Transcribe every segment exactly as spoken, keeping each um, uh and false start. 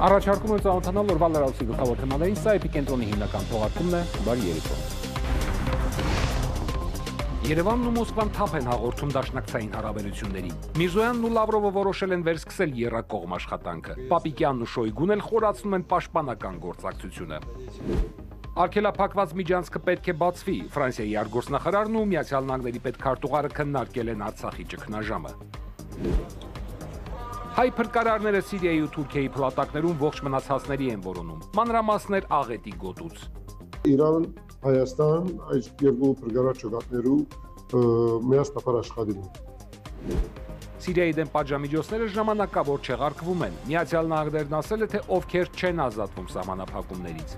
Առաջարկում եմ ծանոթանալ օրվա լրացուցիչ գլխավոր թեմաներին, սա էպիկենտրոնի հիմնական թողարկումն է, բարի երեկո։ Երևանն ու Մոսկվան թափ են հաղորդում դաշնակցային հարաբերություններին։ Միրզոյանն ու Լավրովը որոշել են վերսկսել եռակողմ աշխատանքը։ Պապիկյանն ու Շոյգուն էլ խորացնում են պաշտպանական գործակցությունը։ Արգելափակված միջանցքը պետք է բացվի։ Ֆրանսիայի արտգործնախարարն ու Միացյալ Նահանգների պետքարտուղարը քննարկել են Արցախի ճգնաժամը։ Հայ փրկարարները Սիրիայի ու Թուրքիայի փլատակներում ողջ մնացածների են որոնում։ Մանրամասներ աղետի գոտուց։ Իրան, Հայաստան այս երկու փրկարար ճակատներու միասնապար աշխատում։ Սիրիայի դեմ պատժամիջոցները ժամանակավոր չեղարկվում են։ Միացյալ Նահանգներն ասել է, թե ովքեր չեն ազատվում սահմանափակումներից։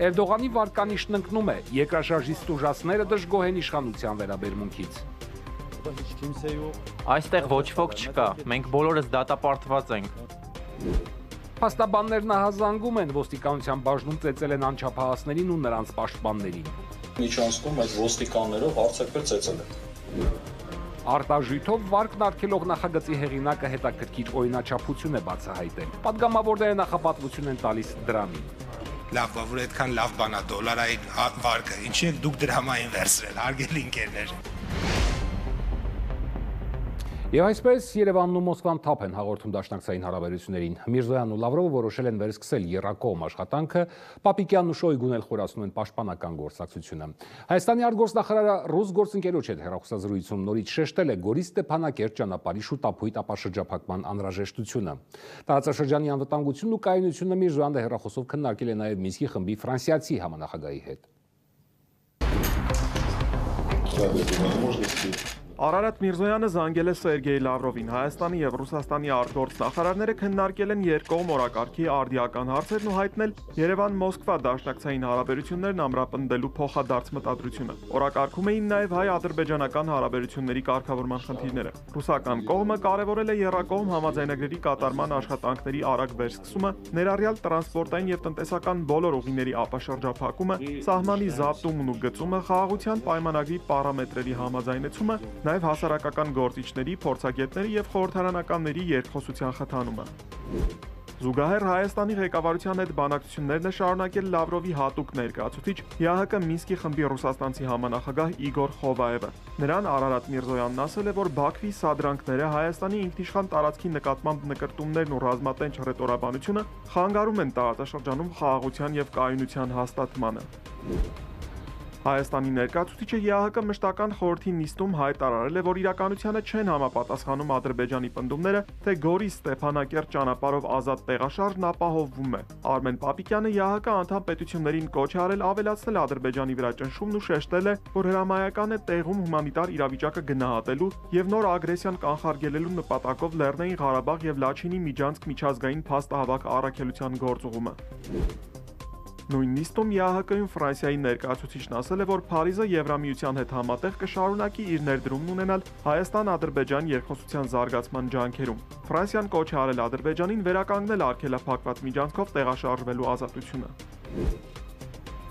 Էրդողանի վարկանիշն ընկնում է, երկրաշարժի ստուժածները դժգոհ են իշխանության վերաբերմունքից։ Այստեղ ոչ ոք չկա, մենք բոլորս դատապարտված ենք։ Փաստաբաններն ահազանգում են, ոստիկանության բաժնում ծեծել են անչափահասներին ու նրանց պաշտպաններին։ Միջանցքում այդ ոստիկաններով հարցակվել ծեծել են։ Արտաժույթով վարկն արգելող նախագծի հեղինակը հետաքրքիր օրինաչափություն է բացահայտել։ Պատգամավորները նախապատվություն են տալիս դրամին։ Լավ, որ այդքան լավ բան է դոլարային վարկը, ինչի եք դուք դրամային վերցրել, հարգելի ընկերներ։ Եվ այսպես Երևանն ու Մոսկվան թափ են հաղորդում դաշնակցային հարաբերություններին։ Միրզոյանն ու Լավրովը որոշել են վերսկսել եռակողմ աշխատանքը, Պապիկյանն ու Շոյգուն էլ խորացնում են պաշտպանական գործակցությունը։ Հայաստանի արտգործնախարարը ռուս գործընկերոջ հետ հեռախոսազրույցում նորից շեշտել է Գորի Ստեփանակերտ ճանապարհի շուտապույտ ապաշրջափակման անհրաժեշտությունը։ Տարածաշրջանի անվտանգությունն ու կայունությունը Միրզոյանը հեռախոսով քննարկել է նաև Մինսկի խմբի ֆրանսիացի համանախագահի հետ։ Արարատ Միրզոյանը զանգել է Սերգեյ Լավրովին։ Հայաստանի եւ Ռուսաստանի արտգործնախարարները քննարկել են երկկողմ օրակարգի արդիական հարցերն ու հայտնել Երևան-Մոսկվա դաշնակցային հարաբերություններն ամրապնդելու փոխադարձ մտադրությունը։ Օրակարգում էին նաեւ հայ-ադրբեջանական հարաբերությունների կարգավորման խնդիրները։ Ռուսական կողմը կարևորել է եռակողմ համաձայնագրերի կատարման աշխատանքների արագ վերսկսումը, ներառյալ տրանսպորտային եւ տնտեսական բոլոր ուղիների ապաշրջափակումը, սահմանի զապտումն ու գծումը, խաղաղության պայմանագրի պարամետրերի համաձայնեցումը, նաև հասարակական գործիչների, փորձագետների եւ խորհրդարանականների երկխոսության խթանումը։ Զուգահեռ Հայաստանի ղեկավարության հետ բանակցություններն է շարունակել Լավրովի հատուկ ներկայացուցիչ ԵԱՀԿ Մինսկի խմբի ռուսաստանցի համանախագահ Իգոր Խովաևը։ Նրան Արարատ Միրզոյանն ասել է, որ Բաքվի սադրանքները Հայաստանի ինքնիշխան տարածքի նկատմամբ նկրտումներն ու ռազմատենչ հռետորաբանությունը խանգարում են տարածաշրջանում խաղաղության եւ կայունության հաստատմանը։ Հայաստանի ներկայացուցիչը ԵԱՀԿ մշտական խորհրդի նիստում հայտարարել է, որ իրականությանը չեն համապատասխանում Ադրբեջանի պնդումները, թե Գորի Ստեփանակերտ ճանապարհով ազատ տեղաշարժն ապահովվում է։ Արմեն Պապիկյանը ԵԱՀԿ անդամ պետություններին կոչ է արել ավելացնել Ադրբեջանի վրա ճնշումն ու շեշտել է, որ հրամայական է տեղում հումանիտար իրավիճակը գնահատելու եւ նոր ագրեսիան կանխարգելելու նպատակով Լեռնային Ղարաբաղ եւ Լաչինի միջանցք միջազգային փաստահավաք առաքելության գործուղումը։ Նույն նիստում ԵԱՀԿ-ում Ֆրանսիայի ներկայացուցիչն ասել է, որ Փարիզը Եվրամիության հետ համատեղ կշարունակի իր ներդրումն ունենալ Հայաստան-Ադրբեջան երկխոսության զարգացման ջանքերում։ Ֆրանսիան կոչ է արել Ադրբեջանին վերականգնել արգելափակված միջանցքով տեղաշարժվելու ազատությունը։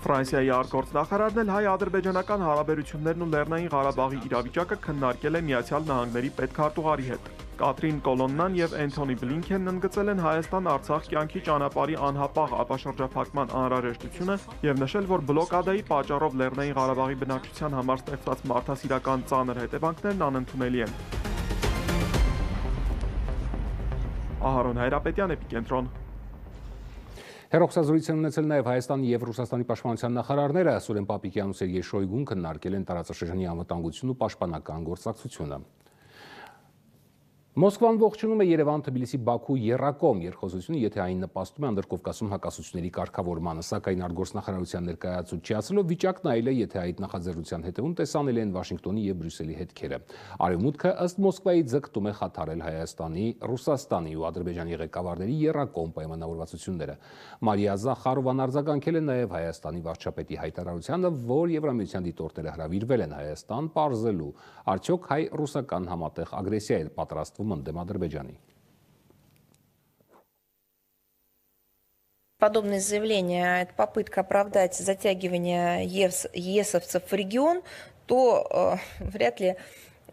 Ֆրանսիայի արտգործնախարարն էլ հայ-ադրբեջանական հարաբերություններն ու Լեռնային Ղարաբաղի իրավիճակը քննարկել է Միացյալ Նահանգների պետքարտուղարի հետ։ Կատրին Կոլոննան եւ Էնթոնի Բլինքենն ընդգծել են Հայաստան-Արցախ կյանքի ճանապարհի անհապաղ ապաշրջափակման անհրաժեշտությունը եւ նշել, որ բլոկադայի պատճառով Լեռնային Ղարաբաղի բնակչության համար ստեղծված մարդասիրական ծանր հետևանքներն անընդունելի են։ Ահարոն Հայրապետյան, Էպիկենտրոն։ Հեռախոսազրույց են ունեցել նաև Հայաստանի եւ Ռուսաստանի պաշտպանության նախարարները Սուրեն Պապիկյանն ու Սերգեյ Շոյգուն քննարկել են տարածաշրջանի անվտանգությունն ու պաշտպանական գործակցությունը։ Մոսկվան ողջունում է Երևան-Թբիլիսի-Բաքու եռակողմ երկխոսությունը, եթե այն նպաստում է Անդրկովկասում հակասությունների կարգավորմանը, սակայն արտգործնախարարության ներկայացուցիչը ասելով վիճակն այլ է, եթե այդ նախաձեռնության հետևում տեսանելի են Վաշինգտոնի եւ Բրյուսելի հետքերը։ Արևմուտքը ըստ Մոսկվայի ձգտում է խաթարել Հայաստանի, Ռուսաստանի ու Ադրբեջանի ղեկավարների եռակողմ պայմանավորվածությունները։ Մարիա Զախարովան արձագանքել է նաև Հայաստանի վարչապետի հայտարարությանը, որ Եվրամիության դիտորդները հրավիրվել են Հայաստան պարզելու, արդյոք հայ-ռուսական համատեղ ագրեսիա է պատրաստվում ընդդեմ Ադրբեջանի։ Подобные заявления, это попытка оправдать затягивание ЕСовцев в регион, то э, вряд ли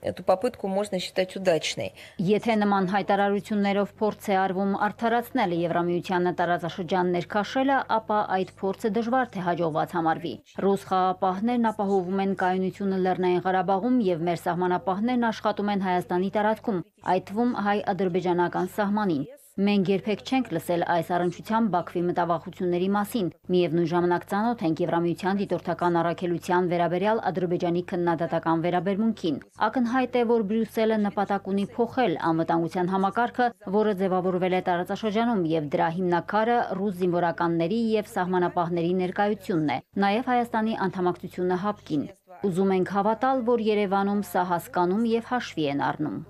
эту попытку можно считать удачной. Եթե նման հայտարարություններով փորձ է արվում արդարացնել Եվրամիությանը տարածաշրջան ներքաշելը, ապա այդ փորձը դժվար թե հաջողված համարվի։ Ռուս խաղապահներն ապահովում են կայունությունը Լեռնային Ղարաբաղում եւ մեր սահմանապահներն աշխատում են Հայաստանի տարածքում, այդ թվում հայ-ադրբեջանական սահմանին։ Մենք երբեք չենք լսել այս առնչությամբ Բաքվի մտավախությունների մասին։ Միևնույն ժամանակ ծանոթ ենք Եվրամիության դիտորդական առաքելության վերաբերյալ Ադրբեջանի քննադատական վերաբերմունքին։ Ակնհայտ է, որ Բրյուսելը նպատակ ունի փոխել անվտանգության համակարգը, որը ձևավորվել է տարածաշրջանում, եւ դրա հիմնակարը ռուս զինվորականների եւ սահմանապահների ներկայությունն է, նաեւ Հայաստանի անդամակցությունը հապկին։ Ուզում ենք հավատալ, որ Երևանում սա հասկանում եւ հաշվի են առնում։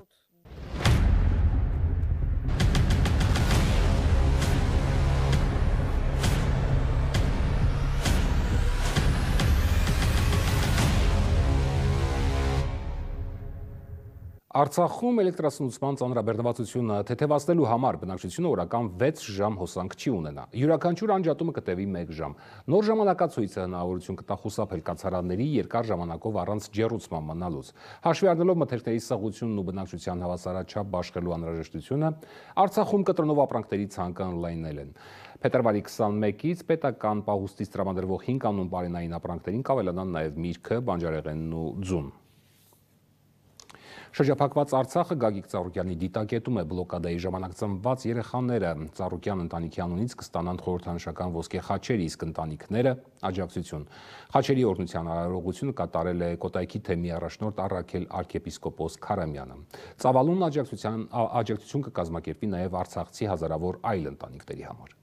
Արցախում էլեկտրասնուցման ծանրաբեռնվածությունը թեթևացնելու համար բնակչությունը օրական վեց ժամ հոսանք չի ունենա։ Յուրաքանչյուր անջատումը կտևի մեկ ժամ։ Նոր ժամանակացույցը հնարավորություն կտա խուսափել կացարանների երկար ժամանակով առանց ջեռուցման մնալուց։ Հաշվի առնելով մթերքների սղությունն ու բնակչության հավասարաչափ բաշխելու անհրաժեշտությունը, Արցախում կտրոնով ապրանքների ցանկը ընդլայնել են։ Փետրվարի քսանմեկից պետական պահուստից տրամադրվող հինգ կանոն բարենային ապրանքներին կավելանան նաև միրգը, բանջարեղենն ու ձուն։ Շրջափակված Արցախը Գագիկ Ծառուկյանի դիտակետում է բլոկադայի ժամանակ ծնված երեխաները Ծառուկյան ընտանիքի անունից կստանան խորհրդանշական ոսկե խաչեր, իսկ ընտանիքները աջակցություն։ Խաչերի օրհնության արարողությունը կատարել է Կոտայքի թեմի առաջնորդ Առաքել arczepiskopos Քարամյանը։ Ծավալուն աջակցության աջակցություն կկազմակերպվի նաև արցախցի հազարավոր այլ ընտանիքների համար։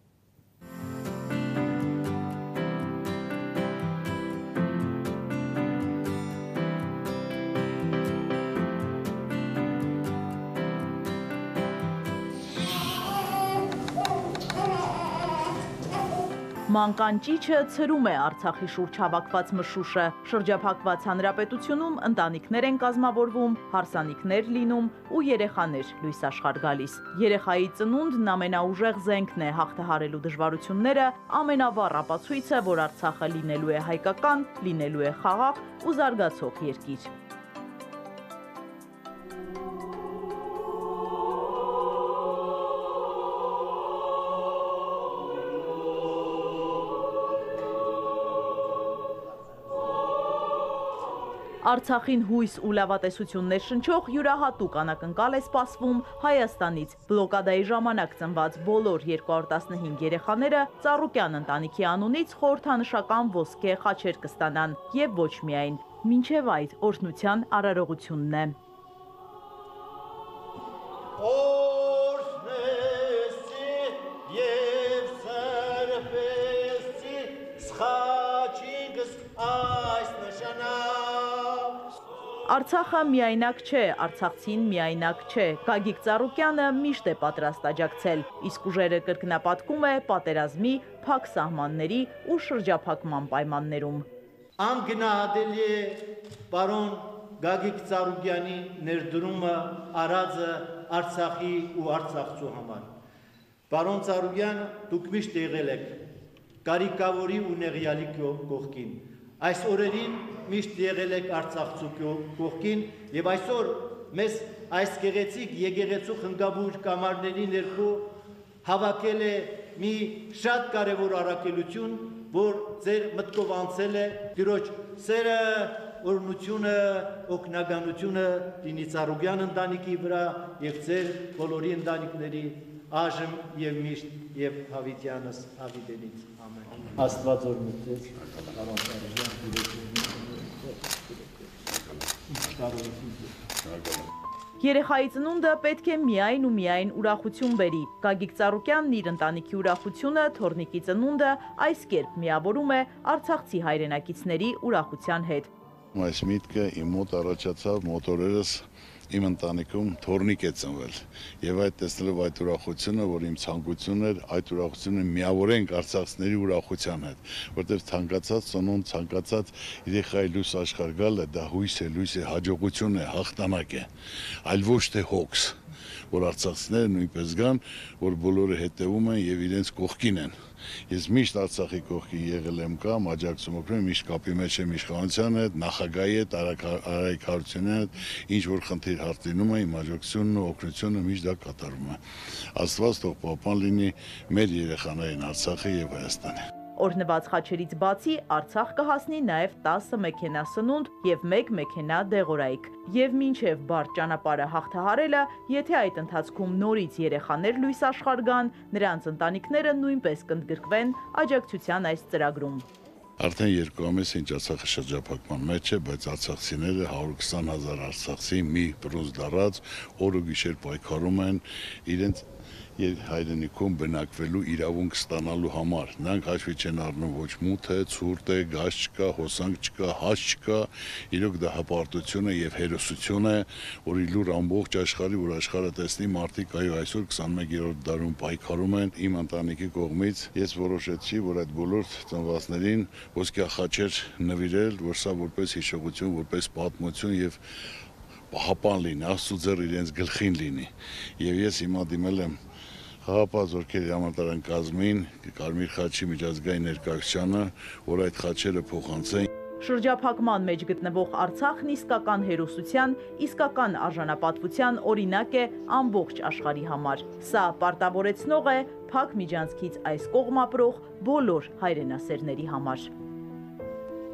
Մանկան ճիչը ցրում է Արցախի շուրջ հավաքված մշուշը։ Շրջափակված հանրապետությունում ընտանիքներ են կազմավորվում, հարսանիքներ լինում ու երեխաներ լույս աշխարհ գալիս։ Երեխայի ծնունդն ամենաուժեղ զենքն է հաղթահարելու դժվարությունները, ամենավառ ապացույցը, որ Արցախը լինելու է հայկական, լինելու է խաղաղ ու զարգացող երկիր։ Արցախին հույս ու լավատեսություններ շնչող յուրահատուկ անակնկալ է սպասվում Հայաստանից։ Բլոկադայի ժամանակ ծնված բոլոր երկու հարյուր տասնհինգ երեխաները Ծառուկյան ընտանիքի անունից խորհրդանշական ոսկե խաչեր կստանան եւ ոչ միայն, մինչեւ այդ օրհնության արարողությունն է։ Արցախը միայնակ չէ, արցախցին միայնակ չէ։ Գագիկ Ծառուկյանը միշտ է պատրաստ աջակցել, իսկ ուժերը կրկնապատկում է պատերազմի, փակ սահմանների ու շրջափակման պայմաններում։ Անգնահատելի է պարոն Գագիկ Ծառուկյանի ներդրումը արածը Արցախի ու արցախցու համար։ Պարոն Ծառուկյան, դուք միշտ եղել եք կարիքավորի ու նեղյալի կողքին։ Այս օրերին միշտ եղել եք արցախցու կողքին եւ այսօր մեզ այս գեղեցիկ եկեղեցու խնգաբույր կամարների ներքո հավաքել է մի շատ կարևոր առաքելություն, որ ձեր մտքով անցել է Տիրոջ սերը, օրհնությունը, օգնականությունը լինի Ծառուկյան ընտանիքի վրա եւ ձեր բոլորի ընտանիքների այժմ եւ միշտ եւ հավիտյանս հավիտենից ամեն։ Աստված օրհնեցեք, Երեխայի ծնունդը պետք է միայն ու միայն ուրախություն բերի։ Գագիկ Ծառուկյանն իր ընտանիքի ուրախությունը, թոռնիկի ծնունդը այս կերպ միավորում է արցախցի հայրենակիցների ուրախության հետ։ Այս միտքը իմ մոտ առաջացավ մոտորերս իմ ընտանիքում թոռնիկ է ծնվել եւ այդ տեսնելով այդ ուրախությունը, որ իմ ցանկությունն էր, այդ ուրախությունը միավորենք արցախցիների ուրախության հետ, որտեղ ցանկացած ծնունդ, ցանկացած երեխայի լույս աշխարհ գալը դա հույս է, լույս է, հաջողություն է, հաղթանակ է, այլ ոչ թե հոգս, որ արցախցիները նույնպես գան, որ բոլորը հետևում են եւ իրենց կողքին են։ Ես միշտ Արցախի կողքի եղել եմ կամ աջակցում օգնում, միշտ կապի մեջ եմ իշխանության հետ, նախագահի հետ, Արայք Հարությունյանի հետ, ինչ որ խնդիր հարց լինում է, իմ աջակցությունն ու օգնությունը միշտ դա կատարում է։ Աստված թող պահպան լինի մեր երեխաներին Արցախի եւ Հայաստանի։ Օրհնված խաչերից բացի Արցախ կհասնի նաև տասը մեքենա սնունդ եւ մեկ մեքենա դեղորայք։ Եվ մինչև բարդ ճանապարհը հաղթահարելը, եթե այդ ընթացքում նորից երեխաներ լույս աշխարհ գան, նրանց ընտանիքները նույնպես կընդգրկվեն աջակցության այս ծրագրում։ Արդեն երկու ամիս ինչ Արցախը շրջափակման մեջ է, բայց արցախցիները հարյուր քսան հազար արցախցի մի բրոնզ դարած օր ու գիշեր պայքարում են իրենց հայրենիքում բնակվելու իրավունք ստանալու համար։ Նրանք հաշվի չեն առնում ոչ մութ է, ցուրտ է, գազ չկա, հոսանք չկա, հաց չկա։ Իրոք դա հպարտություն է եւ հերոսություն է, որ իլուր ամբողջ աշխարհի, որ աշխարհը տեսնի մարդիկ այո այսօր քսաներորդ դարում պայքարում են իմ ընտանիքի կողմից։ Ես որոշեցի, որ այդ բոլոր ծնվածներին ոսկյա խաչեր նվիրել, որ սա որպես հիշողություն, որպես պատմություն եւ պահապան լինի, Աստծո ձեռ իրենց գլխին լինի։ Եվ ես հիմա դիմել եմ Խաղաղապահ զորքերի համալսարան կազմին, Կարմիր խաչի միջազգային ներկայացությանը, որ այդ խաչերը փոխանցեն։ Շրջափակման մեջ գտնվող Արցախն իսկական հերոսության, իսկական արժանապատվության օրինակ է ամբողջ աշխարհի համար։ Սա պարտավորեցնող է Փակ միջանցքից այս կողմ ապրող բոլոր հայրենասերների համար։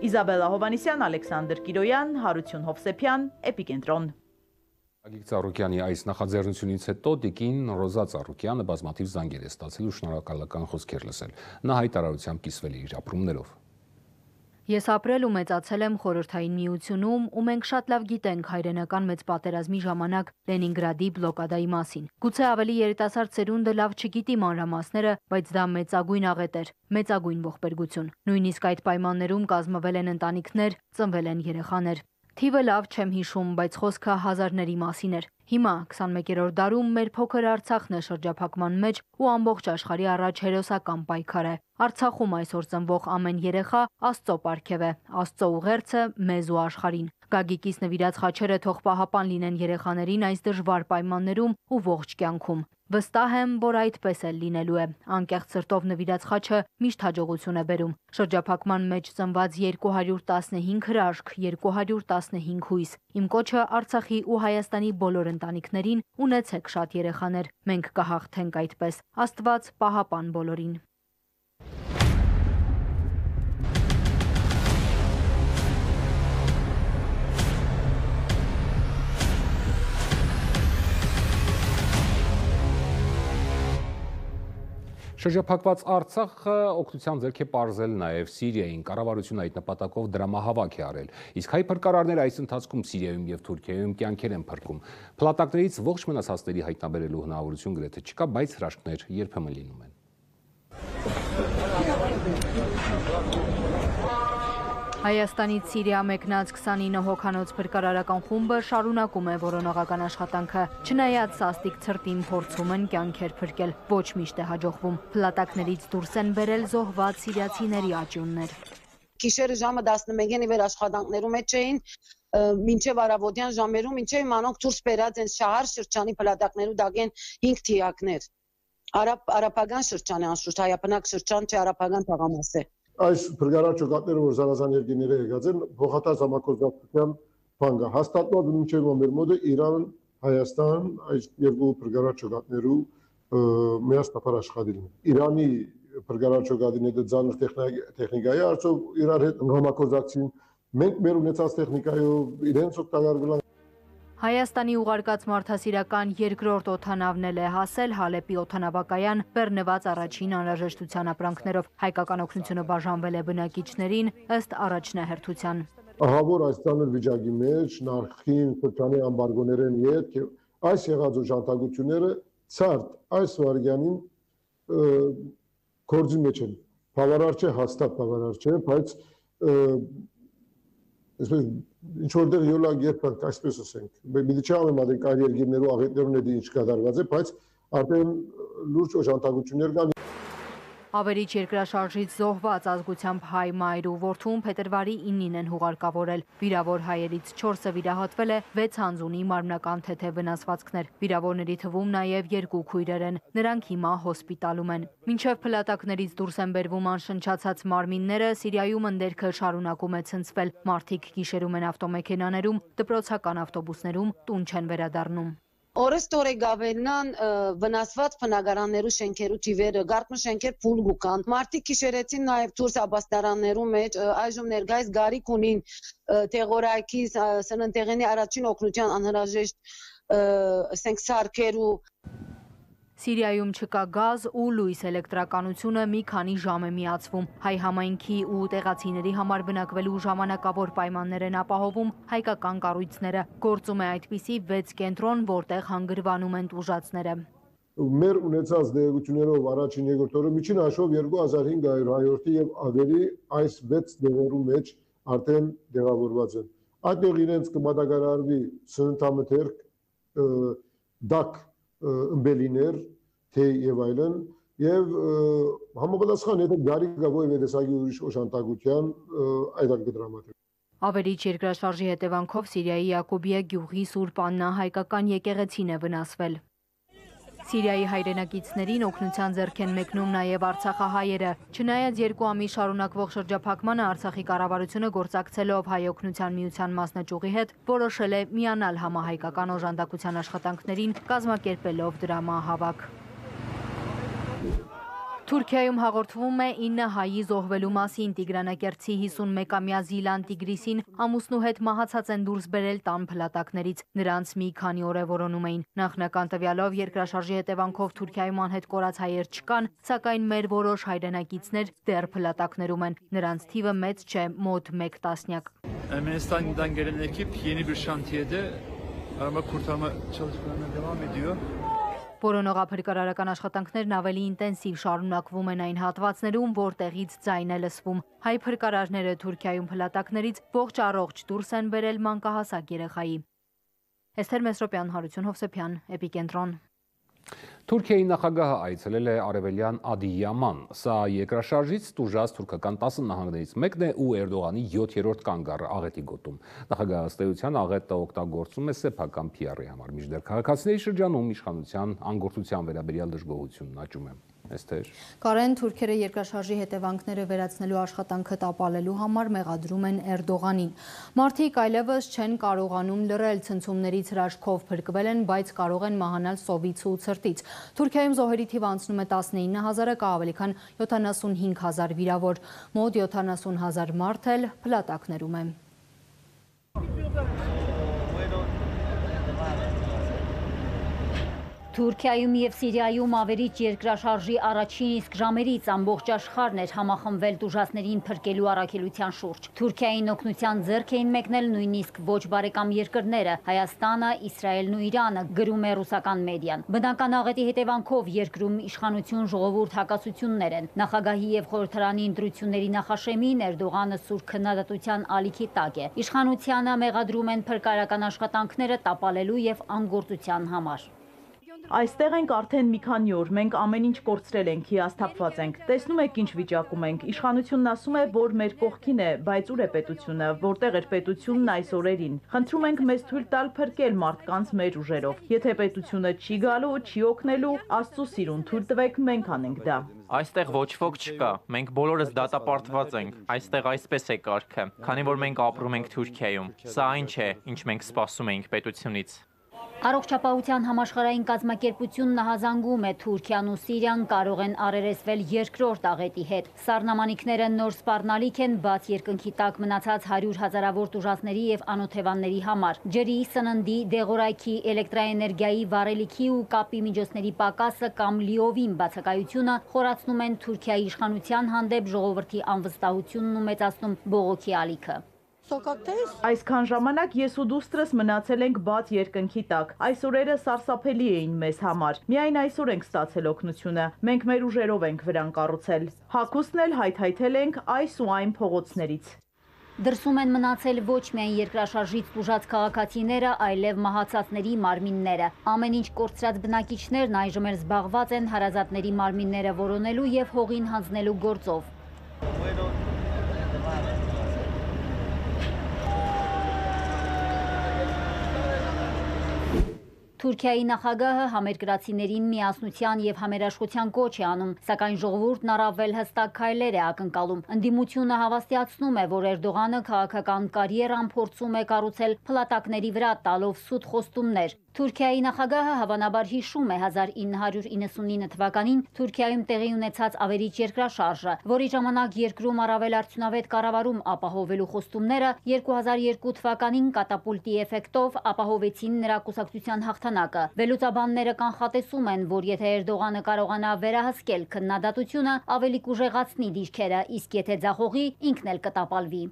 Իզաբելլա Հովանեսյան, Ալեքսանդր Կիրոյան, Հարություն Հովսեփյան, Էպիկենտրոն։ Գագիկ Ծառուկյանի այս նախաձեռնությունից հետո տիկին Ռոզա Ծառուկյանը բազմաթիվ զանգեր է ստացել ու շնորհակալական խոսքեր լսել։ Նա հայտարարությամբ կիսվել է իր ապրումներով։ Ես ապրել ու մեծացել եմ Խորհրդային Միությունում, ու մենք շատ լավ գիտենք հայրենական մեծ պատերազմի ժամանակ Լենինգրադի բլոկադայի մասին։ Գուցե ավելի երիտասարդ սերունդը լավ չգիտի մանրամասները, բայց դա մեծագույն աղետ էր, մեծագույն ողբերգություն։ Նույնիսկ այդ պայմաններում կազմվել են ընտանիքներ, ծնվել են երեխաներ։ Թիվը լավ չեմ հիշում, բայց խոսքը հազարների մասին էր։ Հիմա քսաներորդ դարում մեր փոքր Արցախն է շրջափակման մեջ ու ամբողջ աշխարհի առաջ հերոսական պայքար է։ Արցախում այսօր ծնվող ամեն երեխա Աստծո պարգև է, Աստծո ուղերձը մեզ ու աշխարհին։ Գագիկից նվիրած խաչերը թող պահապան լինեն երեխաներին այս դժվար պայմաններում ու ողջ կյանքում։ Վստահ եմ, որ այդպես էլ լինելու է։ Անկեղծ սրտով նվիրած խաչը միշտ հաջողություն է բերում։ Շրջափակման մեջ ծնված երկու հարյուր տասնհինգ հրաշք, երկու հարյուր տասնհինգ հույս։ Իմ կոչը Արցախի ու Հայաստանի բոլոր ընտանիքներին՝ ունեցեք շատ երեխաներ։ Մենք կհաղթենք այդպես։ Աստված պահապան բոլորին։ Շրջափակված Արցախը օգնության ձեռք է պարզել նաև Սիրիային, կառավարությունը այդ նպատակով դրամահավաք է արել։ Իսկ հայ փրկարարները այս ընթացքում Սիրիայում եւ Թուրքիայում կյանքեր են փրկում։ Փլատակներից ողջ մնացածների հայտնաբերելու հնարավորություն գրեթե չկա, բայց հրաշքներ երբեմն լինում են։ Հայաստանից Սիրիա մեկնած քսանինը հոգանոց փրկարարական խումբը շարունակում է որոնողական աշխատանքը։ Չնայած սաստիկ ցրտին փորձում են կյանքեր փրկել, ոչ միշտ է հաջողվում։ Փլատակներից դուրս են բերել զոհված սիրիացիների աճյուններ։ Գիշերը ժամը տասնմեկին ի վեր աշխատանքներում մեջ էին, մինչև առավոտյան ժամերում, մինչև իմանոնք դուրս բերած են շահար շրջանի փլատակներու դակեն հինգ թիակներ։ Արաբ արաբական շրջան է անշուշտ, հայապնակ շրջան չէ, արաբական թաղամաս է։ Այս փրկարար ճոկատները, որ զանազան երկիները եկած են, փոխադարձ համակարգության բան կա։ Հաստատված մինչև մեր մոդը Իրան, Հայաստան, այս երկու փրկարար ճոկատներու միասնապար աշխատին։ Իրանի փրկարար ճոկատիները ծանր տեխնիկայի արդյոք իրար հետ համակարգին, մենք մեր ունեցած տեխնիկայով իրենց օգտագործել են։ Հայաստանի ուղարկած մարդասիրական երկրորդ օդանավն էլ է հասել Հալեպի օդանավակայան բեռնված առաջին անհրաժեշտության ապրանքներով։ Հայկական օգնությունը բաժանվել է բնակիչներին ըստ առաջնահերթության։ Ահա որ այս ծանր վիճակի մեջ նախին շրջանի ամբարգոներեն հետ այս եղած օժանդակությունները ցարտ այս վարյանին գործի մեջ են։ Բավարար չէ, հաստատ բավարար չէ, բայց այսպես ինչ որտեղ յոլակ երբեք այսպես ասենք, մի չէ ամենամատիկ այլ երկիրներու աղետներուն է ինչ կատարված է, բայց արդեն լուրջ օժանդակություններ կան։ Ավերիչ երկրաշարժից զոհված ազգությամբ հայ մայր ու որդուն փետրվարի իննին են հուղարկավորել։ Վիրավոր հայերից չորսը վիրահատվել է, վեց հանձունի մարմնական թեթև վնասվածքներ։ Վիրավորների թվում նաև երկու քույրեր են։ Նրանք հիմա հոսպիտալում են։ Մինչև փլատակներից դուրս են բերվում անշնչացած մարմինները, Սիրիայում ընդերքը շարունակում է ցնցվել։ Մարդիկ գիշերում են ավտոմեքենաներում, դպրոցական ավտոբուսներում տուն չեն վերադառնում։ Օրեստորե գավելնան վնասված բնակարաններու շենքերու ճիվերը, գարտնու շենքեր փուլ գուկան։ Մարդիկ գիշերեցին նաև դուրս աբաստարաններու մեջ, այժմ ներկայիս գարիք ունին տեղորայքի սննդեղենի առաջին օգնության անհրաժեշտ ասենք սարքերու։ Սիրիայում չկա գազ ու լույս, էլեկտրականությունը մի քանի ժամ է միացվում։ Հայ համայնքի ու տեղացիների համար բնակվելու ժամանակավոր պայմաններ են ապահովում հայկական կառույցները։ Գործում է այդպիսի վեց կենտրոն, որտեղ հանգրվանում են տուժածները։ Մեր ունեցած դեղություններով առաջին երկրորդ օրը միջին հաշվով երկու հազար հինգ հարյուր հայորդի եւ ավելի այս վեց դեղերու մեջ արդեն դեղավորված են։ Այդտեղ իրենց կմատակարարվի սննդամթերք, դակ ըմբելիներ, թե եւ այլն եւ համապատասխան եթե գարի գա ոյ վերեսագի ուրիշ օժանդակության այդակ կդրամատիկ։ Ավերիչ երկրաշարժի հետևանքով Սիրիայի Յակոբիա գյուղի Սուրբ Աննա հայկական եկեղեցին է վնասվել։ Սիրիայի հայրենակիցներին օգնության ձեռք են մեկնում նաև արցախահայերը։ Չնայած երկու ամիս շարունակվող շրջափակմանը Արցախի կառավարությունը գործակցելով Հայ օգնության միության մասնաճյուղի հետ որոշել է միանալ համահայկական օժանդակության աշխատանքներին, կազմակերպելով դրամահավաք։ Թուրքիայում հաղորդվում է ինը հայի զոհվելու մասին։ Տիգրանակերտցի հիսունմեկամյա Զիլան Տիգրիսին ամուսնու հետ մահացած են դուրս բերել տան փլատակներից։ Նրանց մի քանի օր է որոնում էին։ Նախնական տվյալով երկրաշարժի հետևանքով Թուրքիայում անհետ կորած հայեր չկան, սակայն մեր որոշ հայրենակիցներ դեռ փլատակներում են։ Նրանց թիվը մեծ չէ, մոտ մեկ տասնյակ։ Ermenistan'dan gelen ekip yeni bir şantiyede arama kurtarma çalışmalarına devam ediyor. Որոնողափրկարարական աշխատանքներն ավելի ինտենսիվ շարունակվում են այն հատվածներում, որտեղից ձայն է լսվում։ Հայ փրկարարները Թուրքիայում փլատակներից ողջ առողջ դուրս են բերել մանկահասակ երեխայի։ Էսթեր Մեսրոպյան, Հարություն Հովսեփյան, Էպիկենտրոն։ Թուրքիայի նախագահը այցելել է արևելյան Ադիյաման։ Սա երկրաշարժից տուժած թուրքական տասը նահանգներից մեկն է ու Էրդողանի յոթերորդ կանգառը աղետի գոտում։ Նախագահի ըստ էության աղետը օգտագործում է սեփական Փի Արի համար, մինչդեռ քաղաքացիների շրջանում իշխանության անգործության վերաբերյալ դժգոհությունն աճում է։ Էսթեր։ Կարեն, թուրքերը երկրաշարժի հետևանքները վերացնելու աշխատանքը տապալելու համար մեղադրում են Էրդողանին։ Մարդիկ այլևս չեն կարողանում լռել, ցնցումներից հրաշքով փրկվել են, բայց կարող են մահանալ սովից ու ցրտից։ Թուրքիայում զոհերի թիվը անցնում է տասնինը հազարը, կա ավելի քան յոթանասունհինգ հազար վիրավոր, մոտ յոթանասուն հազար մարդ էլ փլատակներում է։ Թուրքիայում և Սիրիայում ավերիչ երկրաշարժի առաջին իսկ ժամերից ամբողջ աշխարհն էր համախմբվել տուժածներին փրկելու առաքելության շուրջ։ Թուրքիային օգնության ձեռք էին մեկնել նույնիսկ ոչ բարեկամ երկրները՝ Հայաստանը, Իսրայելն ու Իրանը, գրում է ռուսական մեդիան։ Բնական աղետի հետևանքով երկրում իշխանություն ժողովուրդ հակասություններ են։ Նախագահի և խորհրդարանի ընտրությունների նախաշեմին Էրդողանը սուր քննադատության ալիքի տակ է։ Իշխանությանը մեղադրում են փրկարարական աշխատանքները տապալելու և անգործության համար։ Այստեղ ենք արդեն մի քանի օր, մենք ամեն ինչ կորցրել ենք, հիասթափված ենք, տեսնում եք ինչ վիճակում ենք, իշխանությունն ասում է, որ մեր կողքին է, բայց ուր է պետությունը, որտեղ էր պետությունն այս օրերին, խնդրում ենք մեզ թույլ տալ փրկել մարդկանց մեր ուժերով, եթե պետությունը չի գալու, չի օգնելու, Աստծո սիրուն թույլ տվեք, մենք անենք դա։ Այստեղ ոչ ոք չկա, մենք բոլորս դատապարտված ենք, այստեղ այսպես է կարգը, քանի որ մենք ապրում ենք Թուրքիայում, սա այն չէ, ինչ մենք սպասում էինք պետությունից։ Առողջապահության համաշխարհային կազմակերպությունն ահազանգում է Թուրքիան ու Սիրիան կարող են առերեսվել երկրորդ աղետի հետ։ Սառնամանիքները նոր սպառնալիք են բաց երկնքի տակ մնացած հարյուր հազարավոր տուժածների և անօթևանների համար։ Ջրի, սննդի, դեղորայքի, էլեկտրաէներգիայի, վառելիքի ու կապի միջոցների պակասը կամ լիովին բացակայությունը խորացնում են Թուրքիայի իշխանության հանդեպ ժողովրդի անվստահությունն ու մեծացնում բողոքի ալիքը։ Այսքան ժամանակ ես ու դուստրս մնացել ենք բաց երկնքի տակ։ Այս օրերը սարսափելի էին մեզ համար։ Միայն այսօր ենք ստացել օգնությունը։ Մենք մեր ուժերով ենք վրան կառուցել։ Հագուստն էլ հայթայթել ենք այս ու այն փողոցներից։ Դրսում են մնացել ոչ միայն երկրաշարժից տուժած քաղաքացիները, այլև մահացածների մարմինները։ Ամեն ինչ կորցրած բնակիչներն այժմ էլ զբաղված են հարազատների մարմինները որոնելու եւ հողին հանձնելու գործով։ Թուրքիայի նախագահը համերկրացիներին միասնության եւ համերաշխության կոչ է անում, սակայն ժողովուրդն առավել հստակ քայլեր է ակնկալում։ Ընդդիմությունը հավաստիացնում է, որ Էրդողանը քաղաքական կարիերան փորձում է կառուցել փլատակների վրա տալով սուտ խոստումներ։ Թուրքիայի նախագահը հավանաբար հիշում է հազար ինը հարյուր իննսունինը թվականին Թուրքիայում տեղի ունեցած ավերիչ երկրաշարժը, որի ժամանակ երկրում առավել արդյունավետ կառավարում ապահովելու խոստումները երկու հազար երկու թվականին կատապուլտի էֆեկտով ապահովեցին նրա կուսակցության հաղթանակը։ Վերլուծաբանները կանխատեսում են, որ եթե Էրդողանը կարողանա վերահսկել քննադատությունը, ավելի կուժեղացնի դիրքերը, իսկ եթե ձախողի, ինքն էլ կտապալվի։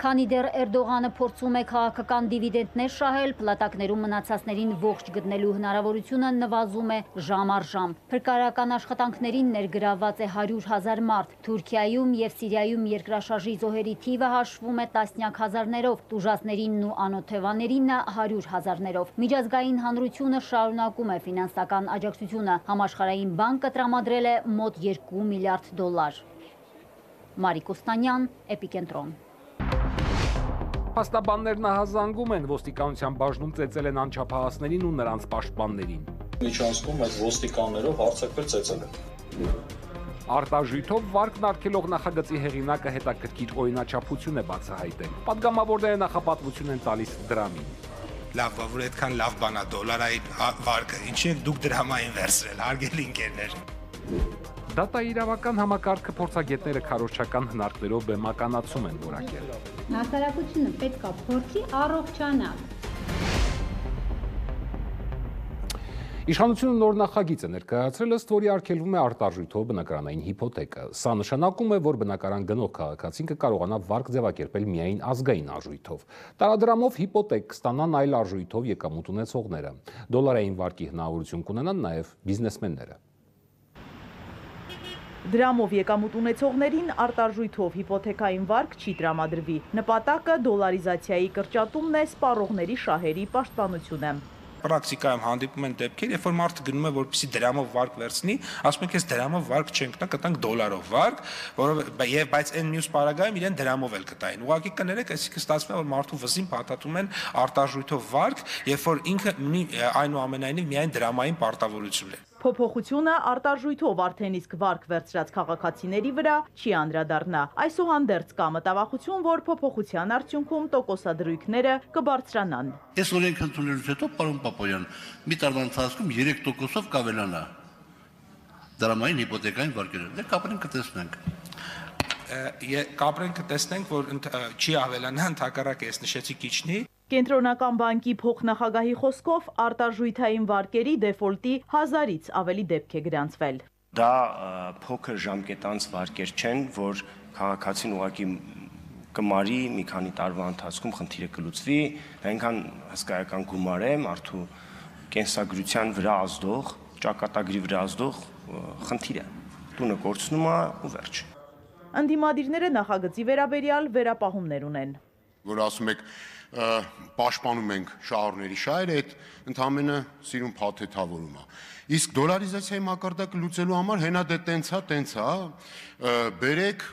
Քանի դեռ Էրդողանը փորձում է քաղաքական դիվիդենտներ շահել, փլատակներում մնացածներին ողջ գտնելու հնարավորությունը նվազում է ժամ առ ժամ։ Փրկարարական աշխատանքներին ներգրավված է հարյուր հազար մարդ։ Թուրքիայում եւ Սիրիայում երկրաշարժի զոհերի թիվը հաշվում է տասնյակ հազարներով, տուժածներինն ու անօթևաներին հարյուր հազարներով։ Միջազգային հանրությունը շարունակում է ֆինանսական աջակցությունը։ Համաշխարհային բանկը տրամադրել է մոտ երկու միլիարդ դոլար։ Մարիկ Կոստանյան, Էպիկենտրոն։ Փաստաբաններն ահազանգում են, ոստիկանության բաժնում ծեծել են անչափահասներին ու նրանց պաշտպաններին։ Միջանցքում այդ ոստիկաններով հարձակվել ծեծել են։ Արտաժույթով վարկն արգելող նախագծի հեղինակը հետաքրքիր օրինաչափություն է բացահայտել։ Պատգամավորները նախապատվություն են տալիս դրամին։ Լավ, որ այդքան լավ բան է դոլարային վարկը, ինչի եք դուք դրամային վերցրել, հարգելի ընկերներ։ Դատաիրավական համակարգը փորձագետները քարոզչական հնարքներով բեմականացում են որակել։ Հասարակությունը պետք է փորձի առողջանալ։ Իշխանությունը նոր նախագիծ է ներկայացրել, ըստ որի արգելվում է արտարժույթով բնակարանային հիփոթեկը։ Սա նշանակում է, որ բնակարան գնող քաղաքացին կկարողանա վարկ ձևակերպել միայն ազգային արժույթով։ Տարադրամով հիփոթեք կստանան այլ արժույթով եկամուտ ունեցողները։ Դոլարային վարկի հնարավորություն կունենան նաև բիզնեսմենները։ Դրամով եկամուտ ունեցողներին արտարժույթով հիփոթեքային վարկ չի տրամադրվի։ Նպատակը դոլարիզացիայի կրճատումն է, սպառողների շահերի պաշտպանությունը։ Պրակտիկայում հանդիպում են դեպքեր, երբ որ մարդը գնում է, որպեսզի դրամով վարկ վերցնի, ասում են, ես դրամով վարկ չենք տա, կտանք դոլարով վարկ, որովհետեւ եւ բայց այն մյուս պարագայում իրեն դրամով էլ կտային։ Ուղղակի կներեք, այսինքն ստացվում է, որ մարդու վզին փաթաթում են արտարժույթով վարկ, երբ որ ինքը ունի այնուամենայնիվ միայն դրամային պարտավորություն է։ Փոփոխությունը արտարժույթով արդեն իսկ վարկ վերցրած քաղաքացիների վրա չի անդրադառնա։ Այսուհանդերձ կա մտավախություն, որ փոփոխության արդյունքում տոկոսադրույքները կբարձրանան։ Այս օրենքը ընդունելուց հետո, պարոն Պապոյան, մի տարվա ընթացքում երեք տոկոսով կավելանա դրամային հիփոթեկային վարկերը։ Դե կապրենք կտեսնենք։ Կապրենք կտեսնենք, որ չի ավելանա, ընդհակառակը ես նշեցի քիչնի։ Կենտրոնական բանկի փոխնախագահի խոսքով արտարժույթային վարկերի դեֆոլտի հազարից ավելի դեպք է գրանցվել։ Դա փոքր ժամկետանց վարկեր չեն, որ քաղաքացին ուղղակի կմարի մի քանի տարվա ընթացքում խնդիրը կլուծվի, դա այնքան հսկայական գումար է մարդու կենսագրության վրա ազդող, ճակատագրի վրա ազդող խնդիր է։ Տունը կորցնում է ու վերջ։ Ընդդիմադիրները նախագծի վերաբերյալ վերապահումներ ունեն։ Որ ասում եք պաշտպանում ենք շահառուների շահերը, այդ ընդհանրապես սիրուն փաթեթավորում է։ Իսկ դոլարիզացիայի մակարդակը լուծելու համար հենա դե տենցա, տենցա, բերեք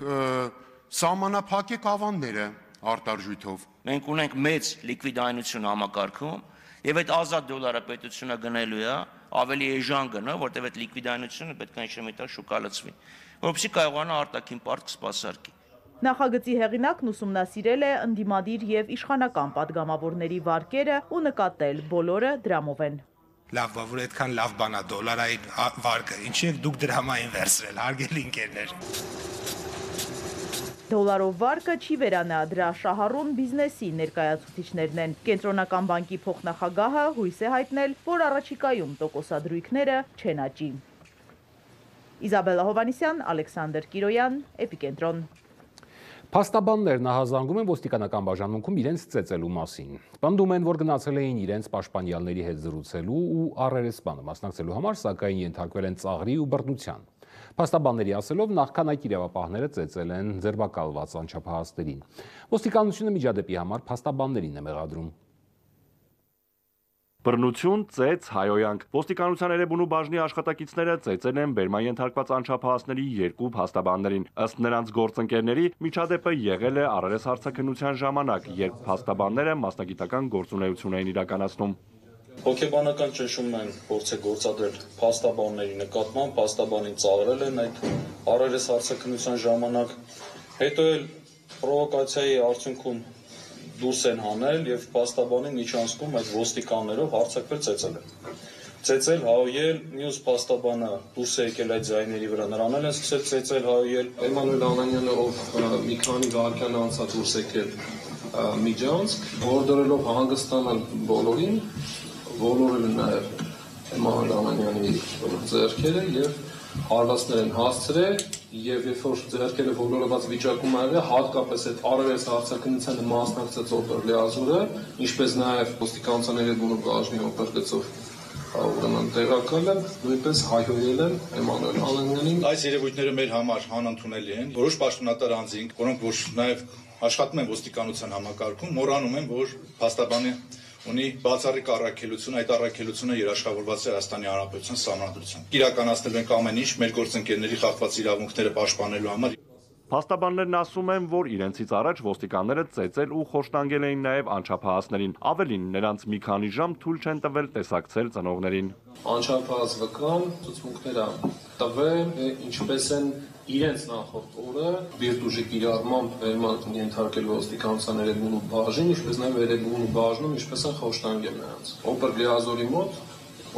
սահմանափակեք ավանդները արտարժույթով։ Մենք ունենք մեծ լիկվիդայնություն համակարգում, եւ այդ ազատ դոլարը պետությունը գնելու է, ավելի էժան գնա, որտեղ այդ լիկվիդայնությունը պետք է ինչ-որ միտեղ շուկա լցվի, որովհետեւ կարողանա արտաքին պարտք սպասարկի։ Նախագծի հեղինակն ուսումնասիրել է ընդդիմադիր եւ իշխանական падգամավորների վարկերը ու նկատել բոլորը դրամով են։ Լավ, որ այդքան լավ բան է դոլարային վարկը, ինչի եք դուք դրամային վերցրել, հարգելի ընկերներ։ Դոլարով վարկը չի վերանա, դրա շահառուն բիզնեսի ներկայացուցիչներն են։ Կենտրոնական բանկի փոխնախագահը հույս է հայտնել, որ առաջիկայում տոկոսադրույքները չեն աճի։ Իզաբելլա Հովանիսյան, Ալեքսանդր Կիրոյան, Էպիկենտրոն։ Փաստաբաններն ահազանգում են ոստիկանական բաժանմունքում իրենց ծեծելու մասին։ Պնդում են, որ գնացել էին իրենց պաշտպանյալների հետ զրուցելու ու առերեսպանը մասնակցելու համար, սակայն ենթարկվել են ծաղրի ու բռնության։ Փաստաբանների ասելով նախքան այդ իրավապահները ծեծել են ձերբակալված անչափահասներին։ Ոստիկանությունը միջադեպի համար փաստաբաններին է մեղադրում։ Բռնություն, ծեծ, հայոյանք։ Ոստիկանության Էրեբունու բաժնի աշխատակիցները ծեծել են բերման ենթարկված անչափահասների երկու փաստաբաններին։ Ըստ նրանց գործընկերների, միջադեպը եղել է առերես հարցաքննության ժամանակ, երբ փաստաբանները մասնագիտական գործունեություն էին իրականացնում։ Հոգեբանական ճնշում են փորձ է գործադրել փաստաբանների նկատմամբ, փաստաբանին ծաղրել են այդ առերես հարցաքննության ժամանակ, հետո էլ պրովոկացիայի արդյունքում դուրս են հանել եւ փաստաբանին միջանցքում այդ ոստիկաններով հարձակվել ծեծել են։ Ծեծել, հայոյել, մյուս փաստաբանը դուրս է եկել այդ ձայների վրա, նրան էլ են սկսել ծեծել, հայոյել։ Էմանուել Անանյանը, ով մի քանի վայրկյան անցած դուրս եկել միջանցք, որդորելով հանգստանալ բոլորին, ոլորել են նաեւ Էմանուել Անանյանի ձեռքերը եւ հարվածներ են հասցրել եւ երբ որ ձեռքերը ոլորված վիճակում ա եղել, հատկապես այդ առերես հարցաքննությանը մասնակցած օպերլիազուրը, ինչպես նաեւ ոստիկանության Էրեբունու բաժնի օպերգծով ուրեմն տեղակալը նույնպես հայհոյել են Էմանուել Անանյանին։ Այս երևույթները մեր համար անընդունելի են։ Որոշ պաշտոնատար անձինք, որոնք որ նաեւ աշխատում են ոստիկանության համակարգում, մոռանում են, որ փաստաբանը ունի բացառիկ առաքելություն, այդ առաքելությունը երաշխավորված է Հայաստանի Հանրապետության Սահմանադրությամբ։ Իրականացնել ենք ամեն ինչ մեր գործընկերների խախտված իրավունքները պաշտպանելու համար։ Փաստաբաններն ասում են, որ իրենցից առաջ ոստիկանները ծեծել ու խոշտանգել էին նաև անչափահասներին։ Ավելին, նրանց մի քանի ժամ թույլ չեն տվել տեսակցել ծնողներին։ Անչափահաս վկան ցուցմունքներ տվել, ինչպես են իրենց նախորդ օրը վիրտուժի կիրառմամբ վերման ենթարկել ոստիկանության Էրեբունու բաժին, ինչպես նաև Էրեբունու բաժնում, ինչպես են խոշտանգել նրանց։ Օպերլիազորի մոտ,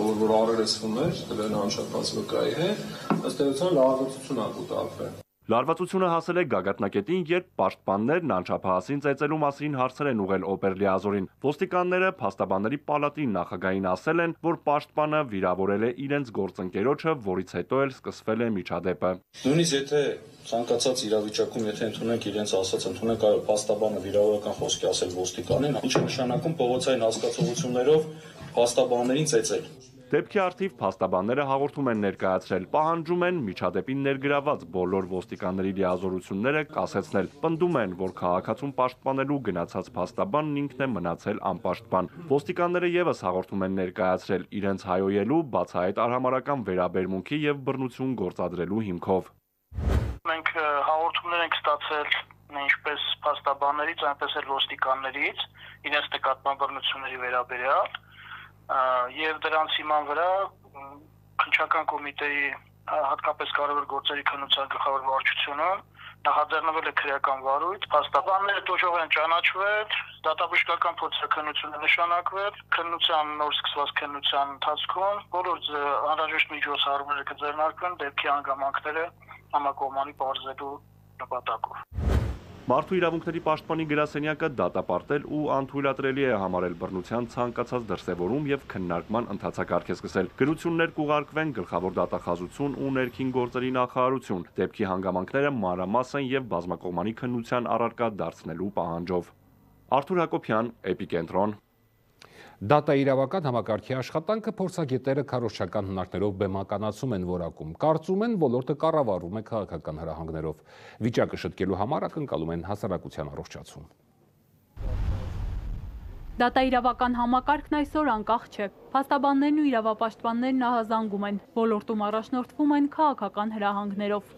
ով որ առերեսվում էր, տվել անչափահաս վկայի հետ, ըստ էության լարվածություն ա կուտակվել։ Լարվածությունը հասել է գագաթնակետին, երբ պաշտպաններն անչափահասին ծեծելու մասին հարցեր են ուղղել օպերլիազորին։ Ոստիկանները փաստաբանների պալատի նախագահին ասել են, որ պաշտպանը վիրավորել է իրենց գործընկերոջը, որից հետո էլ սկսվել է միջադեպը։ Նույնիսկ եթե ցանկացած իրավիճակում, եթե ընդունենք իրենց ասած, ընդունենք այո, փաստաբանը վիրավորական խոսք է ասել ոստիկանին, ինչը նշանակում փողոցային հասկացություններով փաստաբաններին ծեծել։ Դեպքի արդիվ փաստաբանները հաղորդում են ներկայացրել, պահանջում են միջադեպին ներգրաված բոլոր ոստիկանների լիազորությունները կասեցնել, պնդում են, որ քաղաքացուն պաշտպանելու գնացած փաստաբանն ինքն է մնացել անպաշտպան։ Ոստիկանները եւս հաղորդում են ներկայացրել իրենց հայոյելու, բացահայտ արհամարհական վերաբերմունքի եւ բռնություն գործադրելու հիմքով։ Մենք հաղորդումներ ենք ստացել ինչպես փաստաբաններից, այնպես էլ ոստիկաններից իրենց նկատմամբ բռնությունների վերաբերյալ եւ դրանց հիման վրա քննչական կոմիտեի հատկապես կարևոր գործերի քննության գլխավոր վարչությունը նախաձեռնվել է քրեական վարույթ, փաստաբանները տոժող են ճանաչվել, դատաբժշկական փորձաքննություն է նշանակվել, քննության նոր սկսված քննության ընթացքում բոլոր անհրաժեշտ միջոցառումները կձեռնարկվեն դեպքի հանգամանքները համակողմանի բարձրելու նպատակով։ Մարդու իրավունքների պաշտպանի գրասենյակը դատապարտել ու անթույլատրելի է համարել բռնության ցանկացած դրսևորում եւ քննարկման ընթացակարգ է սկսել։ Գրություններ կուղարկվեն գլխավոր դատախազություն ու ներքին գործերի նախարարություն, դեպքի հանգամանքները մանրամասն եւ բազմակողմանի քննության առարկա դարձնելու պահանջով։ Արթուր Հակոբյան, Էպիկենտրոն։ Դատա իրավական համակարգի աշխատանքը փորձագետները քարոզչական հնարքներով բեմականացում են որակում, կարծում են ոլորտը կառավարվում է քաղաքական հրահանգներով, վիճակը շտկելու համար ակնկալում են հասարակության առողջացում։ Դատա իրավական համակարգն այսօր անկախ չէ, փաստաբաններն ու իրավապաշտպաններն ահազանգում են, ոլորտում առաջնորդվում են քաղաքական հրահանգներով։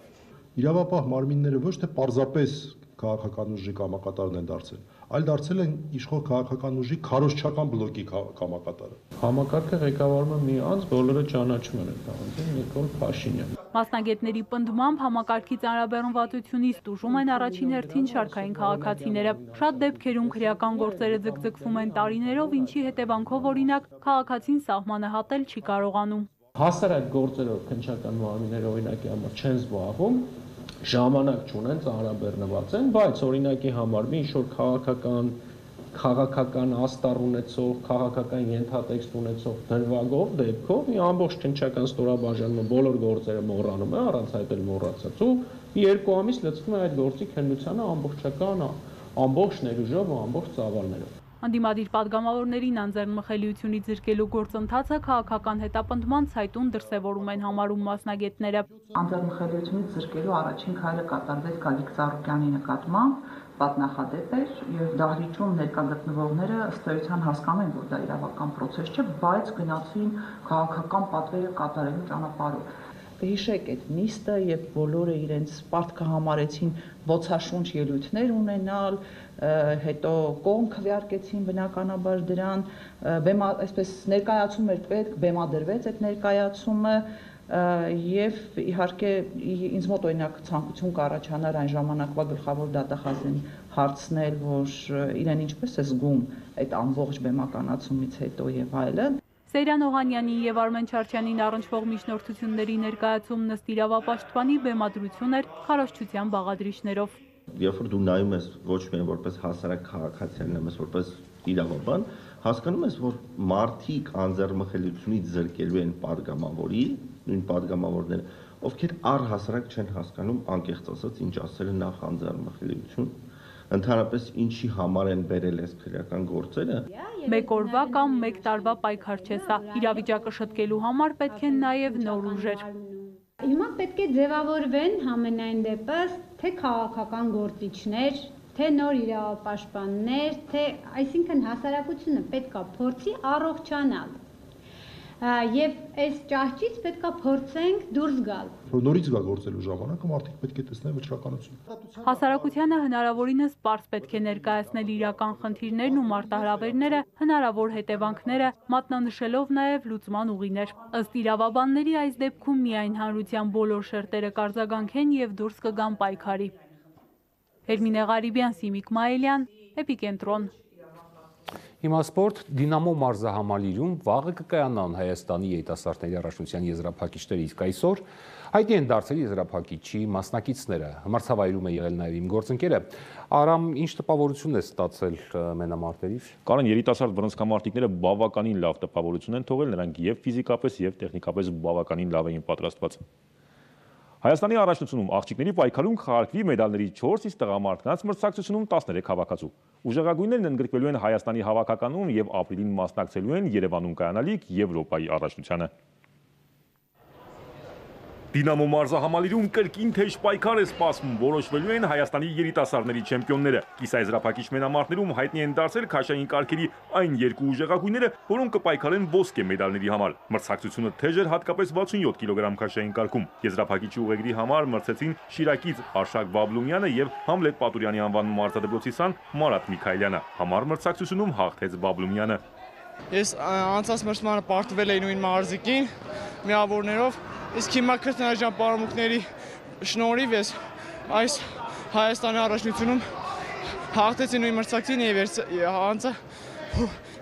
Իրավապահ մարմինները ոչ թե պարզապես քաղաքական ուժի կամակատարն են դարձել, այլ դարձել են իշխող քաղաքական ուժի քարոզչական բլոկի կամակատարը։ Համակարգը ղեկավարում է մի անձ, բոլորը ճանաչում են այդ անձին, Նիկոլ Փաշինյան։ Մասնագետների պնդմամբ համակարգի ծանրաբեռնվածությունից տուժում են առաջին հերթին շարքային քաղաքացիները։ Շատ դեպքերում քրեական գործերը ձգձգվում են տարիներով, ինչի հետևանքով օրինակ քաղաքացին սահմանը հատել չի կարողանում։ Հասարակ գործերով քննչական մարմինները օրինակի համար չեն զբաղվում, ժամանակ չունեն, ծանրաբեռնված են, բայց օրինակի համար մի ինչ-որ քաղաքական քաղաքական աստառ ունեցող, քաղաքական ենթատեքստ ունեցող դրվագով դեպքով մի ամբողջ քննչական ստորաբաժանումը բոլոր գործերը մոռանում է, առանց այդ էլ մոռացած ու երկու ամիս լցվում է այդ գործի քննությանը ամբողջական ամբողջ ներուժով ու ամբողջ ծավալներով։ Անդիմադիր պատգամավորներին անձեռնմխելիությունից զրկելու գործընթացը քաղաքական հետապնդման ցայտուն դրսևորում են համարում մասնագետները։ Անձեռնմխելիությունից զրկելու առաջին քայլը կատարվեց Գագիկ Ծառուկյանի նկատմամբ, պատնախադեպ էր եւ դահլիճում ներկա գտնվողները ըստ էության հասկանում են, որ դա իրավական process չէ, բայց գնացին քաղաքական պատվերը կատարելու ճանապարհով։ Հիշեք այդ նիստը, երբ բոլորը իրենց պարտքը համարեցին ոցաշունչ ելույթներ ունենալ, հետո կողմ քվեարկեցին բնականաբար դրան, այսպես ներկայացում էր պետք, բեմադրվեց այդ ներկայացումը եւ իհարկե ինձ մոտ օրինակ ցանկություն կառաջանար այն ժամանակվա գլխավոր դատախազին հարցնել, որ իրեն ինչպես է զգում այդ ամբողջ բեմականացումից հետո եւ այլն։ Սեյրան Օհանյանի եւ Արմեն Չարչյանին առնչվող միջնորդությունների ներկայացումն ըստ իրավապաշտպանի բեմադրություն էր քարոզչության բաղադրիչներով։ Երբ որ դու նայում ես ոչ միայն որպես հասարակ քաղաքացիական, այլև որպես իրավաբան, հասկանում ես, որ մարդիկ անձեռնմխելիությունից զրկելու են падգամավորի, նույն падգամավորները, ովքեր առհասարակ չեն հասկանում անկեղծ ասած ինչ ասել է նախ անձեռնմխելիություն, ընդհանրապես ինչի համար են բերել այս քրեական գործերը։ Մեկ օրվա կամ մեկ տարվա պայքար չէ սա, իրավիճակը շտկելու համար պետք են նաև նոր ուժեր։ Հիմա պետք է ձևավորվեն համենայն դեպս թե քաղաքական գործիչներ, թե նոր իրավապաշտպաններ, թե այսինքն հասարակությունը պետք է փորձի առողջանալ։ Եվ այս ճահճից պետք է փորձենք դուրս գալ։ Նորից գա գործելու ժամանակը մարդիկ պետք է տեսնեն վճռականություն։ Հասարակությանը հնարավորինս պարզ պետք է ներկայացնել իրական խնդիրներն ու մարտահրավերները, հնարավոր հետևանքները, մատնանշելով նաև լուծման ուղիներ։ Ըստ իրավաբանների այս դեպքում միայն հանրության բոլոր շերտերը կարձագանքեն եւ դուրս կգան պայքարի։ Էրմինե Ղարիբյան, Սիմիկ Մայելյան, Էպիկենտրոն։ Հիմա սպորտ, Դինամո մարզահամալիրում վաղը կկայանան Հայաստանի երիտասարդների առաջնության եզրափակիչները, իսկ այսօր հայտնի են դարձել եզրափակիչի մասնակիցները։ Մրցավայրում է եղել նաև իմ գործընկերը։ Արամ, ինչ տպավորություն է ստացել մենամարտերից։ Կարեն, երիտասարդ բռնցքամարտիկները բավականին լավ տպավորություն են թողել, նրանք եւ ֆիզիկապես եւ տեխնիկապես բավականին լավ էին պատրաստված։ Հայաստանի առաջնությունում աղջիկների պայքարում կխաղարկվի մեդալների չորս, իսկ տղամարդկանց մրցակցությունում տասներեք հավաքածու։ Ուժեղագույններն ընդգրկվելու են Հայաստանի հավաքականում եւ ապրիլին մասնակցելու են Երևանում կայանալիք Եվրոպայի առաջնությանը։ Դինամո մարզահամալիրում կրկին թեժ պայքար է սպասվում, որոշվելու են Հայաստանի երիտասարդների չեմպիոնները։ Կիսաեզրափակիչ մենամարտերում հայտնի են դարձել քաշային կարգերի այն երկու ուժեղագույնները, որոնք կպայքարեն ոսկե մեդալների համար։ Մրցակցությունը թեժ էր հատկապես վաթսունյոթ կիլոգրամ քաշային կարգում։ Եզրափակիչի ուղեգրի համար մրցեցին Շիրակից Արշակ Բաբլումյանը եւ Համլետ Պատուրյանի անվան մարզադպրոցի սան Մարատ Միքայելյանը։ Համար մրցակցությունում հաղթեց Բաբլումյանը։ Ես անցած մրցմանը պարտվել էի նույն մարզիկին միավորներով, իսկ հիմա քրտնաջան պարամուկների շնորհիվ ես այս Հայաստանի առաջնությունում հաղթեցի նույն մրցակցին եւ անցա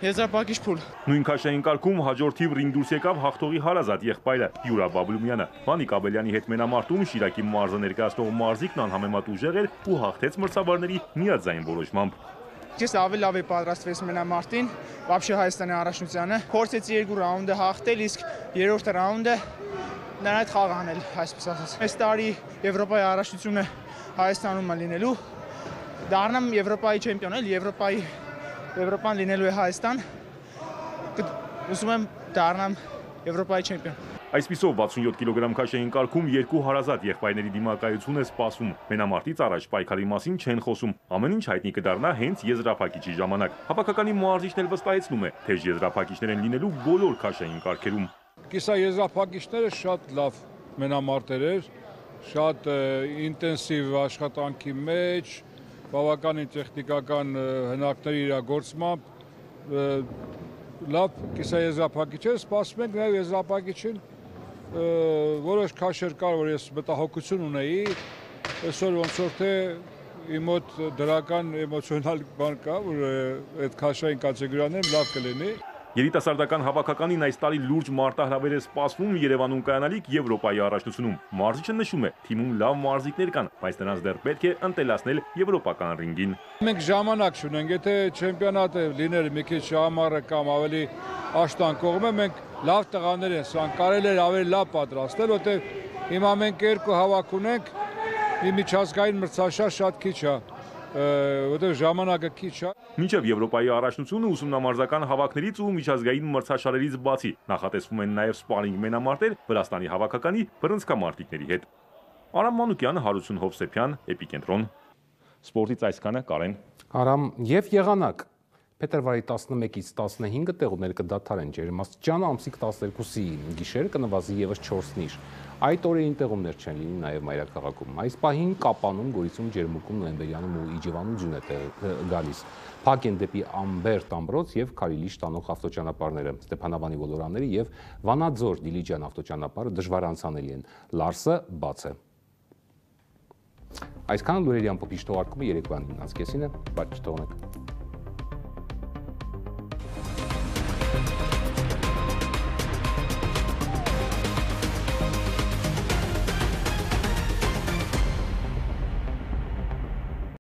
եզրափակիչ փուլ։ Նույն քաշային կարգում հաջորդիվ ռինգ դուրս եկավ հաղթողի հարազատ եղբայրը Յուրա Բաբլումյանը։ Վանիկ Աբելյանի հետ մենամարտում Շիրակի մարզը ներկայացնող մարզիկն անհամեմատ ուժեղ էր ու հաղթեց մրցավարների միաձայն որոշմամբ։ Ես ավելի լավ էի պատրաստվել մենամարտին, вообще Հայաստանի առաջնությանը։ Փորձեցի երկու ռաունդը հաղթել, իսկ երրորդ ռաունդը նրան հետ խաղ անել, այսպես ասած։ Այս տարի Եվրոպայի առաջնությունը Հայաստանում է լինելու, դառնամ Եվրոպայի չեմպիոն, էլ Եվրոպայի Եվրոպան լինելու է Հայաստան։ Ուզում եմ դառնամ Եվրոպայի չեմպիոն։ Այսպիսով վաթսունյոթ կիլոգրամ քաշային կարգում երկու հարազատ եղբայրների դիմակայություն է սպասվում։ Մենամարտից առաջ պայքարի մասին չեն խոսում։ Ամեն ինչ հայտնի կդառնա հենց եզրափակիչի ժամանակ։ Հավաքականի մարզիչն էլ վստահեցնում է, թե եզրափակիչներ են լինելու բոլոր քաշային կարգերում։ Կիսաեզրափակիչները շատ լավ մենամարտեր էր, շատ ինտենսիվ աշխատանքի մեջ, բավականին տեխնիկական հնարքների իրագործմամբ լավ կիսաեզրափակիչ էր, սպասում ենք նաև եզրափակիչին, որոշ քաշեր կար, որ ես մտահոգություն ունեի, այսօր ոնց որ թե իմ մոտ դրական էմոցիոնալ բան կա, որ այդ քաշային կատեգորիաներում լավ կլինի։ Երիտասարդական հավաքականին այս տարի լուրջ մարտահրավեր է սպասվում Երևանում կայանալիք Եվրոպայի առաջնությունում։ Մարզիչը նշում է, թիմում լավ մարզիկներ կան, բայց նրանց դեռ պետք է ընտելացնել եվրոպական ռինգին։ Մենք ժամանակ չունենք, եթե չեմպիոնատը լիներ մի քիչ ամառը կամ ավելի աշտան կողմը, մենք լավ տղաներ են, սան կարելի էր ավելի լավ պատրաստել, որտեղ հիմա մենք երկու հավաք ունենք, մի միջազգային մրցաշար շատ քիչ է։ որտեղ ժամանակը քիչ է։ Մինչև Եվրոպայի առաջնությունը ուսումնամարզական հավաքներից ու միջազգային մրցաշարերից բացի նախատեսվում են նաև սպարինգ մենամարտեր Վրաստանի հավաքականի բռնցքամարտիկների հետ։ Արամ Մանուկյան, Հարություն Հովսեփյան, Էպիկենտրոն։ Սպորտից այսքանը, Կարեն։ Արամ, եւ եղանակ Փետրվարի տասնմեկից տասնհինգը տեղումներ կդադարեն ջերմաստիճանը ամսիկ տասներկուսի գիշեր կնվազի եւս չորսնիշ։ Այդ օրերին տեղումներ չեն լինի նաև մայրաքաղաքում։ Այս պահին Կապանում, Գորիսում, Ջերմուկում, Նոյեմբերյանում ու Իջևանում ձյուն է գալիս։ Փակ են դեպի Ամբերտ ամրոց եւ Քարիլիշ տանող ավտոճանապարհները, Ստեփանավանի ոլորանները եւ Վանաձոր Դիլիջան ավտոճանապարհը դժվար անցանելի են։ Լարսը բաց է։ Այսքան լուրերի ամփոփիչ թողարկումը երեկոյան իննանց կեսին է, բայց չթողնեք։